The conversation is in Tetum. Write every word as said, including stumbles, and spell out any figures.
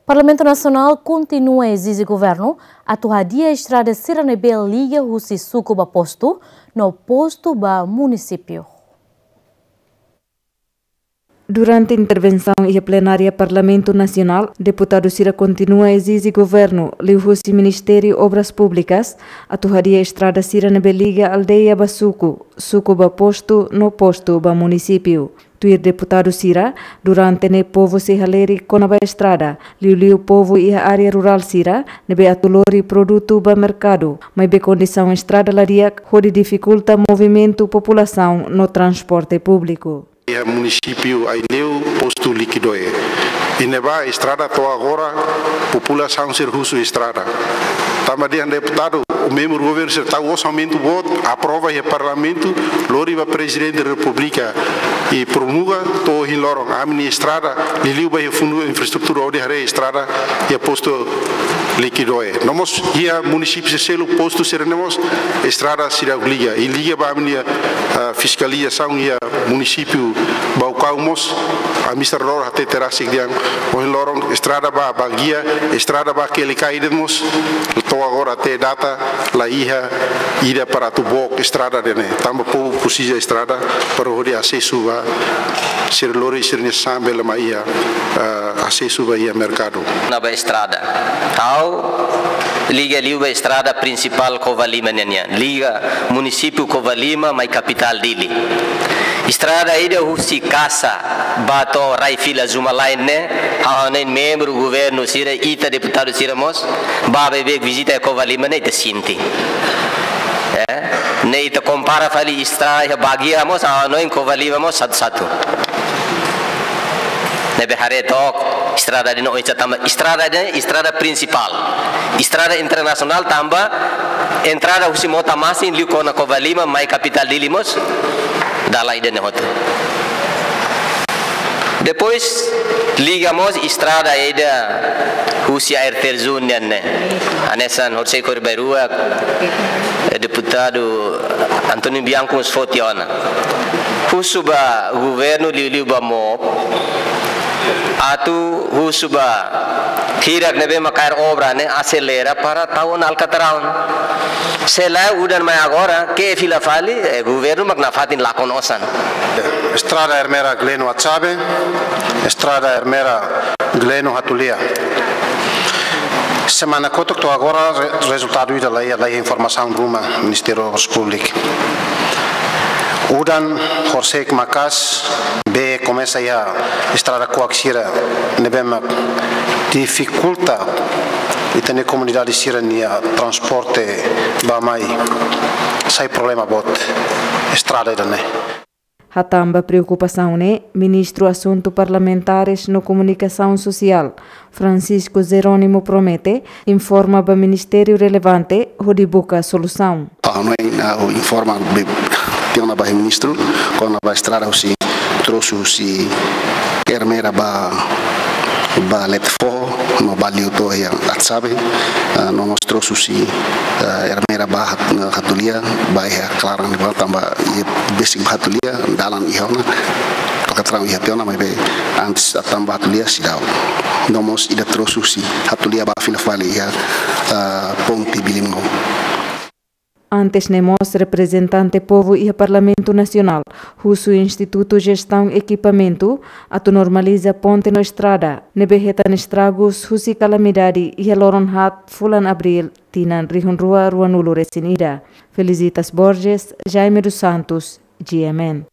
Parlamentu Nasionál kontinua ezije governu atu hadi'a estrada sira ne'ebé liga husi suku ba postu, no postu ba munisípiu. Durante intervensaun iha plenária Parlamentu Nasionál, deputadu sira kontinua ezije governu, liuhusi Ministériu Obras Públikas, atu hadi'a estrada sira ne'ebé liga aldeia ba suku, suku ba postu, no postu ba munisípiu. Tuir deputadu sira, durante ne'e povu sei halerik kona-ba estrada, liuliu povu iha área rurál sira, ne'ebé atu lori produtu ba merkadu, maibé kondisaun estrada la di'ak hodi difikulta movimentu populasaun no transporte públiku. Iha munisípiu Aileu, postu Liquidoe. I ne'ebá estrada to'o agora, populasaun sira husu estrada. Tanba dehan deputadu, membru governu sira tau orsamentu boot, aprova iha parlamentu, lori ba Prezidente Repúblika i promulga, to'o ohin loron, ami-nia estrada, liuliu ba iha fundu infraestrutura hodi haree estrada iha postu Liquidoe. No mós iha munisípiu sira seluk, postu sira-ne'e mós estrada seidauk liga. I liga ba ami-nia, ah, fiskalizasaun iha munisípiu Baucau mós, ami sira loron hatete rasik dehan, ohin loron estrada ba Baguia, estrada ba Quelicai de'it mós, to'o agora até data la iha ida para atu book estrada ida-ne'e. Tanba povu presiza estrada para hodi asesu ba sira lori sira-nia sasán bele mai iha, ah, asesu ba iha merkadu. Kona-ba estrada. Ha'u liga liu ba estrada prinsipál Covalima nian, liga munisípiu Covalima mai kapitál Dili. Estrada ida husi Kasa ba to'o rai fila Zuma Line ne'e, ha'u hanoin membru governu sira, ita deputadu sira mós, bá beibeik vizita iha Covalima ne'e ita sente. Eh, ne'e ita kompara fali estrada iha Baguia mós, ha'u hanoin Covalima mós satu-satu. Ne'ebé haree took, estrada ida-ne'e oin sá tanba estrada ida-ne'e, estrada prinsipál. Estrada internasionál tanba entrada husi Mota Masin liu kona Covalima mai kapitál Dili mós, dalan ida-ne'e hotu. Depois, liga mós estrada ida husi air terjun nian ne'e. Hanesan horisehik kori-bainrua, eh, deputadu António Bianco mós foti ona. Husu ba governu liuliu ba MOP, atu husu ba hirak ne'ebé mak kaer obra ne'e aselera para tau ona alkatraun. Se lae udan mai agora, ke'e fila fali, eh, governu mak nafatin lakon osan. Estrada Ermera Gleno Atsabe, estrada Ermera Gleno Hatulia. Semana kotuk to'o agora re-, rezultadu ida la iha, la iha informasaun ruma Ministériu Obras Públikas. Udan horisehik maka'as, bee komesa iha estrada kuak sira ne'ebé mak difikulta ita-nia komunidade sira-nia transporte bá mai. Sai problema boot estrada ida-ne'e. Hatán ba preokupasaun ne'e, Ministru Asuntu Parlamentares no Komunikasaun Sosiál, Francisco Jerónimo Promete, informa ba ministériu relevante hodi buka solusaun. Ah, no, ah, informa be, tiha ona ba ministru, kona-ba estrada husi, trosu husi Ermera ba, ba Letefoho, no ba liu to'o iha Atsabe, ah, no mós trosu husi, ah, Ermera ba Hat-, Hatulia, ba iha klaran ne'ebá tanba iha besik ba Hatulia, dalan iha ona, alkatraun iha tiha ona, maibé antes hatán ba Hatulia seidauk. No mós ida trosu husi Hatulia ba fila fali iha, ah, ponte Bilimgou. Antes ne'e mós reprezentante povu iha Parlamentu Nasionál husu Institutu Jestaun Ekipamentu atu normaliza ponte no estrada ne'ebé hetan estragus husi kalamidade iha loron haat fulan Abríl tinan rihun rua ruanulu resin ida. Felicitas Borges, Jaime dos Santos, G M N.